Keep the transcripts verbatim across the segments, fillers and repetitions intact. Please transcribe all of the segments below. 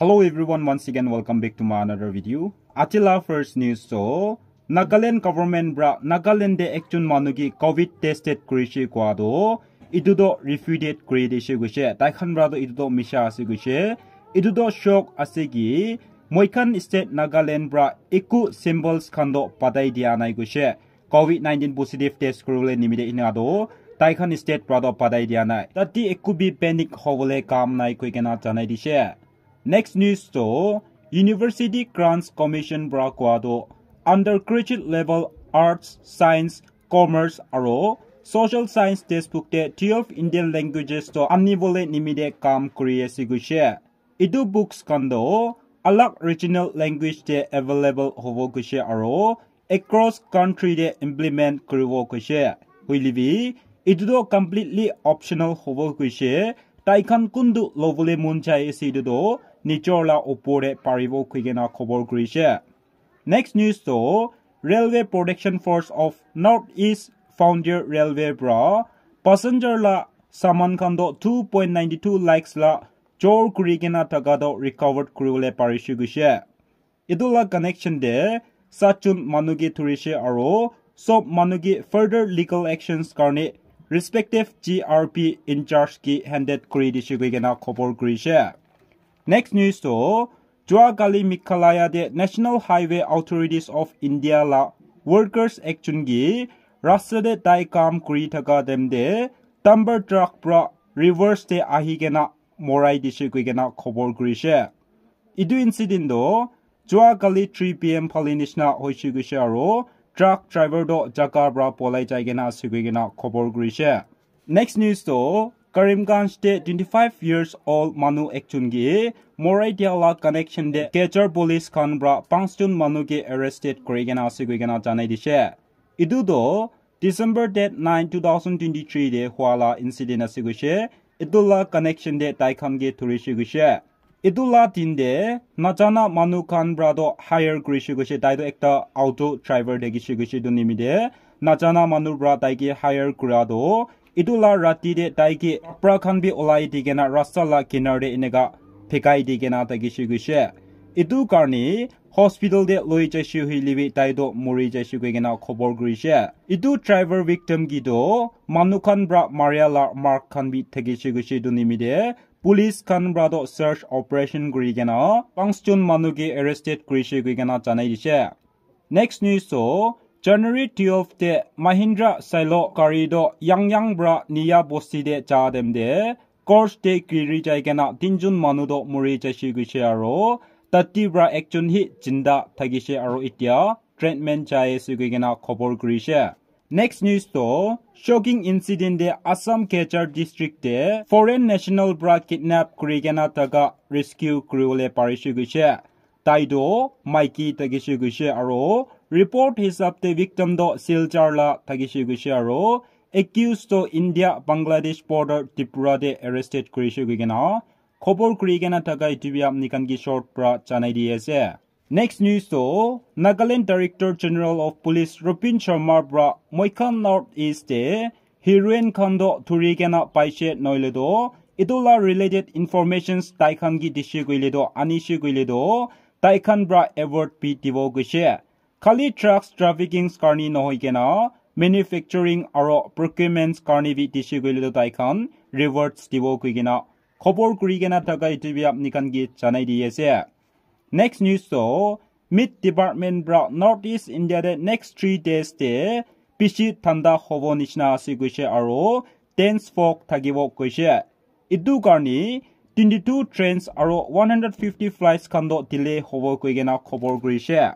Hello everyone, once again welcome back to my another video. Aji la first news to Nagaland government pra Nagaland de ekjon manu ki covid tested kurishe kua to itu to refuted kuri dishe kuishe. Tai khan pra to itu to misha ase kuishe. Itu to shock ase ki moi khan state Nagaland pra eku symbols khan to patai dia nai kuishe. covid nineteen positive test kuribole nimite ena to tai khan state pra to patai dia nai. Tate eku bi panic hobole kam nai koi kena janai dishe. Next news to University Grants Commission pra kua to undergraduate level arts, science, commerce aro social science textbook te twelve Indian languages to anibole nimite kam kuri ase kuishe. Itu books khan to alag regional language te available hobo kuishe aro across country te implement kuribo kuishe. Hoile bi itu to completely optional hobo kuishe. Tai khan kuntu lobole mon jai ase itu to nijor la opor te paribo koi kena khobor kurishe. Next news to Railway Protection Force of North East Frontier Railway pra passenger la saman khan to two point nine two lakhs la jor kuri kena thaka to recovered kuribole parishe kuishe. Itu la connection te satjon manu ki thurishe aro sob manu ki further legal actions karne respective G R P in charge ki handed kuri dishe koi kena khobor kurishe. Next news to jua kali Meghalaya te National Highway Authorities of India la workers ekjon ki rasta te tai kam kuri thaka time te dumper truck pra reverse te ahi kena morai dishe koi kena khobor kurishe. Itu incident to jua kali three P M phale nishina hoishe kuishe aro truck driver to jaga pra polai jai kena ase koi kena khobor kurishe. Next news to Karimganj te twenty-five years old manu ekjon ki morai dia la connection te Cachar police khan pra panchjon manu ki arrested kuri kena ase koi kena janai dishe. Itu to December date nine, two thousand twenty-three te hua la incident ase kuishe. Itu la connection te tai khan ki thurishe kuishe. Itu la din te najana manu khan pra to hire kurishe kuishe. Tai to ekta auto driver thakishe kuishe itu nimite. Najana manu pra tai ki hire kura to itu la rati te tai ki kapra khan bi olai di kena rasta la kinar te eneka phekai di kena thakishe kuishe. Itu karne hospital te loi jaishe hoile bi tai to mori jaishe koi kena khobor kurishe. Itu driver victim ki to manu khan pra maria la mark khan bi thakishe kuishe itu nimite. Police khan pra to search operation kuri kena panchjon manu ki arrested kurishe koi kena janai dishe. Next news to January twelve te Mahindra Silo gari to Yangyang pra Niya Bosti te ja time te course te giri jai kena tinjon manu to mori jaishe kuishe aro tate pra ekjon hi jinda thakishe aro etia treatment jai ase koi kena khobor kurishe. Next news to shocking incident te Assam Cachar district te foreign national pra kidnap kuri kena thaka rescue kuribole parishe kuishe. Tai to maiki thakishe kuishe aro report hisab te victim to Silchar la thakishe kuishe aro accused to India Bangladesh border Tripura te arrested kurishe koi kena khobor kuri kena thaka itu bi apni khan ki short pra janai di ase. Next news to Nagaland Director General of Police Rupin Sharma pra moi khan North East te heroin khan to thuri kena paishe noile to itu la related informations tai khan ki dishe koile to anishe koile to tai khan pra award bi dibo kuishe. Khali drugs trafficking karne nohoi kena manufacturing aro procurements karne bi dishe koile to tai khan rewards dibo koi kena khobor kuri kena thaka itu bi apni khan ki janai di ase. Next news to Met Department pra North East India te next three days te bishi thanda hobo nishina ase kuishe aro dense fog thakibo kuishe. Itu karne twenty-two trains aro one hundred fifty flights khan to delay hobo koi kena khobor kurishe.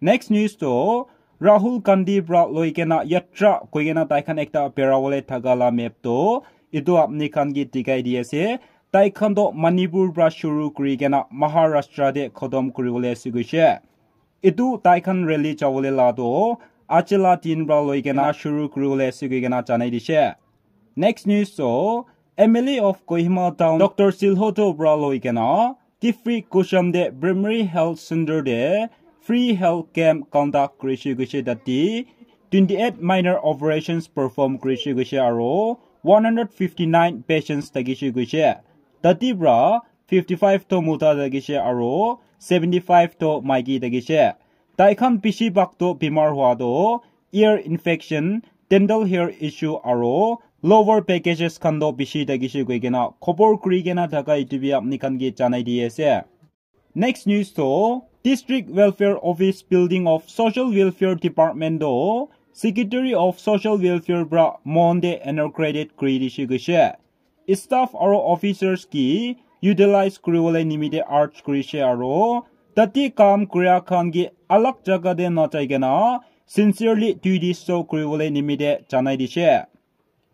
Next news to Rahul Gandhi pra loi kena yatra koi kena tai khan ekta berabole thaka la map to itu apni khan ki dikhai di ase. Tai khan to Manipur pra shuru kuri kena Maharashtra te khotom kuribole ase kuishe. Itu tai khan rally jabole la to aji la din pra loi kena shuru kuribole ase koi kena janai dishe. Next news to M L A of Kohima Town Doctor Silhoto pra loi kena Kiphire Kusum te Primary Health Center te free health camp conduct kurishe kuishe. Tate twenty-eight minor operations perform kurishe kuishe aro one hundred fifty-nine patients thakishe kuishe. Tate pra fifty five toh mota thakishe aro seventy five toh maiki thakishe. Tai khan bishi bhag toh bimar hwa toh ear infection, dental hair issue aro lower packages khan toh bishi thakishe koi kena khobor kuri kena thaka etu bi apni khan ke janai di ase. Next news toh District Welfare Office Building of Social Welfare Department toh Secretary of Social Welfare pra Monday inaugurated kuri dishe koishe. Staff aro officers ki utilize kuribole nimite urge kurishe aro tate kam kuria khan ki alag jaga te na jai kena sincerely duties to kuribole nimite janai dishe.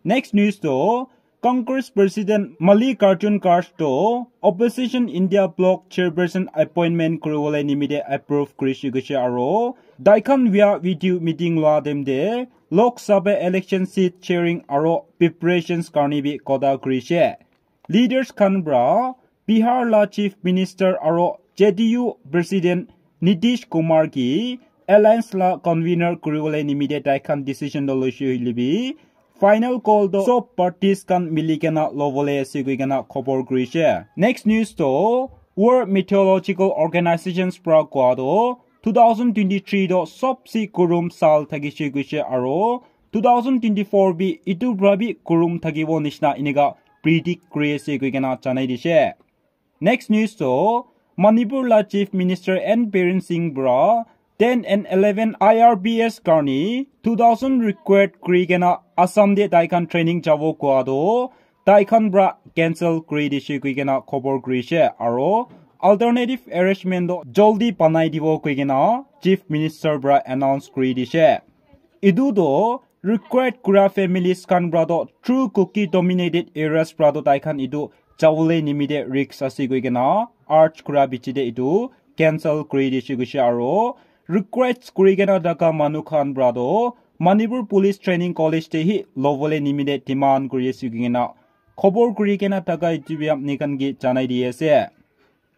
Next news to Congress President Mallikarjun Kharge to Opposition India Bloc Chairperson appointment kuribole nimite approve kurishe koishe aro tai khan via video meeting loa time te Lok Sabha election seat sharing aro preparations karne bi kotha kurishe. Leaders khan pra Bihar la Chief Minister aro J D U President Nitish Kumar ki alliance la convener kuribole nimite tai khan decision to loishe hoile bi final call to sob parties khan mili kena lobole ase koi kena khobor kurishe. Next news to World Meteorological Organizations pra koa to two thousand twenty-three to sobse kurum sal thakishe koishe aro two thousand twenty-four bi itu pra bi kurum thakibo nishina enika predict kuri ase koi kena janai dishe. Next news to Manipur la Chief Minister N Biren Singh pra ten and eleven I R B S karni two thousand required kuri kena Assam de tai khan training jabo koa to tai khan pra cancel kuri dishe koi kena khobor kurishe aro alternative arrangement to joldi banai dibo koi kena Chief Minister pra announce kuri dishe. Etu to required kura families khan pra to through Kuki dominated areas pra to tai khan etu jawole nimite risk ase koi kena urge kura bichi te etu cancel kuri dishe koishe aro request kuri kena thaka manu khan pra to Manipur Police Training College te hi lobole nimite demand kuri ase koi kena khobor kuri kena thaka etu bi apni khan ke janai di ase.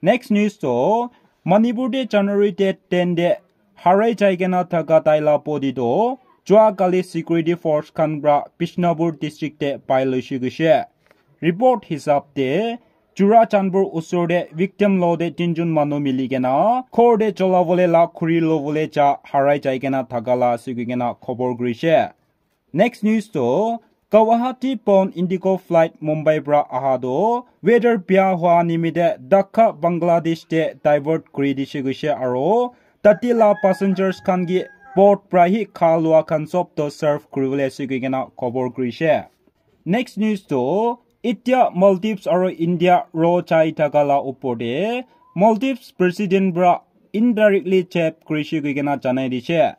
Next news to Manipur te January date ten te harai jai kena thaka tai la body to jua kali security force khan pra Bishnupur district te pai loishe koishe. Report hisab te Churachandpur usor te victim lo te tinjun manu mili kena ghor te cholabole la khuri lobole ja harai jai kena thaka la ase koi kena khobor kurishe. Next news to Guwahati bound Indigo flight Mumbai pra aha to weather bia hwa nimite Dhaka Bangladesh te divert kuri dishe koishe aro tate la passengers khan ki port pra hi kha lua khan sob to serve kuribole ase koi kena khobor kurishe. Next news to itya Maldives aro India ro jai thaka la upor te Maldives president pra indirectly jab kurishe koi kena janai dishe.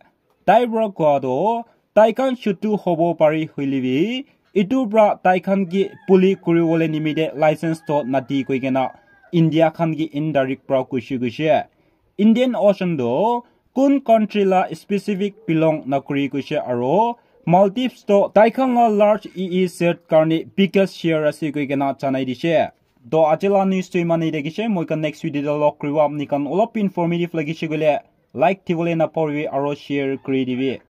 Tai pra koa to tai khan chutu hobo pari hoile bi etu pra tai khan ki puli kuribole nimite license to nadi koi kena India khan ki indirect pra kuishe koishe. Indian Ocean to kun country la specific belong nakuri koishe aro Maldives to tai khan la large E E Z karne biggest share ase koi kena janai dishe. To aji la news to iman ite kishe, moi khan next video te log kuribo. Apni khan olop informative lagishe koile like dibole napahoribi aro share kuri dibi.